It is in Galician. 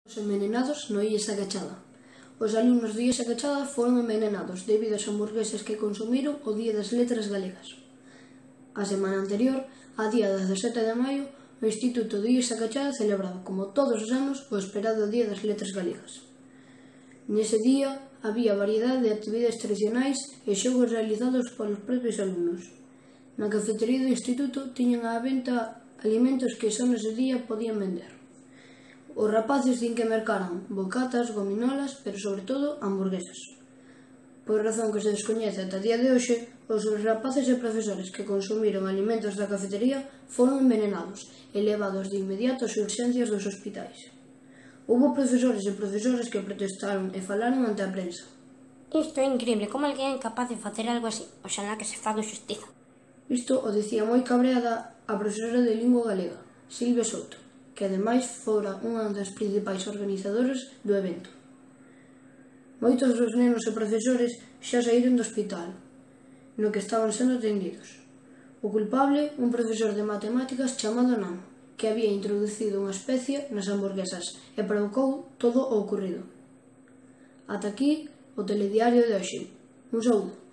Os envenenados no IES Agachada. Os alumnos do IES Agachada foron envenenados debido ás hamburguesas que consumiron o Día das Letras Galegas. A semana anterior, a día 17 de maio, o Instituto do IES Agachada celebraba, como todos os anos, o esperado Día das Letras Galegas. Nese día, había variedade de actividades tradicionais e xogos realizados polos propios alumnos. Na cafetería do Instituto tiñan á venta alimentos que só nese día podían vender. Os rapaces din que mercaran bocatas, gominolas, pero sobre todo hamburguesas. Por razón que se descoñece ata día de hoxe, os rapaces e profesores que consumiron alimentos da cafetería foron envenenados e levados de inmediato ás urxencias dos hospitais. Houbo profesores e profesoras que protestaron e falaron ante a prensa. Isto é increíble, como alguén é capaz de facer algo así? Oxalá que se faga xustiza. Isto o dicía moi cabreada a profesora de lingua galega, Silvia Souto, que ademais fora unha das principais organizadoras do evento. Moitos dos nenos e profesores xa saíron do hospital, no que estaban sendo atendidos. O culpable, un profesor de matemáticas chamado Nano, que había introducido unha especie nas hamburguesas e provocou todo o ocorrido. Ata aquí o telediario de hoxe. Un saúdo.